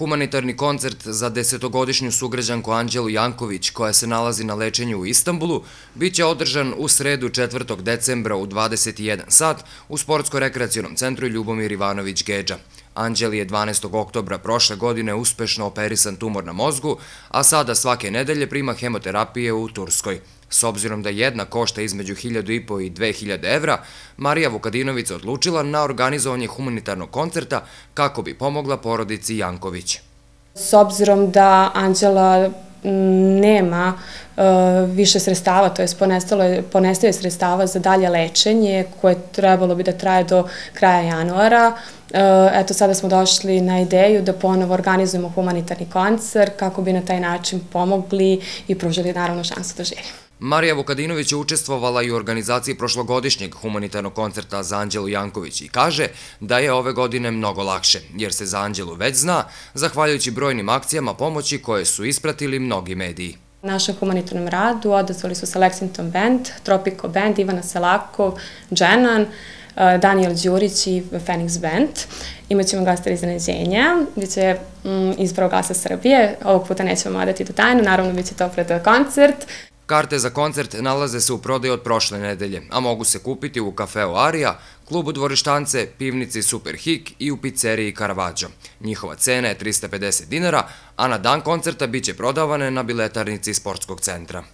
Humanitarni koncert za 10-godišnju sugrađanku Anđelu Janković, koja se nalazi na lečenju u Istanbulu, biće održan u sredu 4. decembra u 21 sat u Sportsko-rekreacionom centru Ljubomir Ivanović Gedža. Anđeli je 12. oktobra prošle godine uspešno operisan tumor na mozgu, a sada svake nedelje prima hemoterapije u Turskoj. S obzirom da jedna košta između 1.500 i 2.000 evra, Marija Vukadinović se odlučila na organizovanje humanitarnog koncerta kako bi pomogla porodici Janković. S obzirom da Anđela nema više sredstava, to je ponestaje sredstava za dalje lečenje koje trebalo bi da traje do kraja januara. Eto, sada smo došli na ideju da ponovo organizujemo humanitarni koncert kako bi na taj način pomogli i pružili naravno šansu da živi. Marija Vukadinović je učestvovala i u organizaciji prošlogodišnjeg humanitarnog koncerta za Anđelu Janković i kaže da je ove godine mnogo lakše, jer se za Anđelu već zna, zahvaljujući brojnim akcijama pomoći koje su ispratili mnogi mediji. U našem humanitarnom radu odazvali su se Lexington Band, Tropico Band, Ivana Selakov, Dženan, Daniel Đurić i Phoenix Band. Imaćemo gasta iznenađenja, gdje će iz Prvog glasa Srbije, ovog puta nećemo odati do tajnu, naravno bit će to pred koncert. Karte za koncert nalaze se u prodaju od prošle nedelje, a mogu se kupiti u kafeu Arija, klubu Dvorištance, pivnici Super Hik i u pizzeriji Caravaggio. Njihova cena je 350 dinara, a na dan koncerta biće prodavane na biletarnici sportskog centra.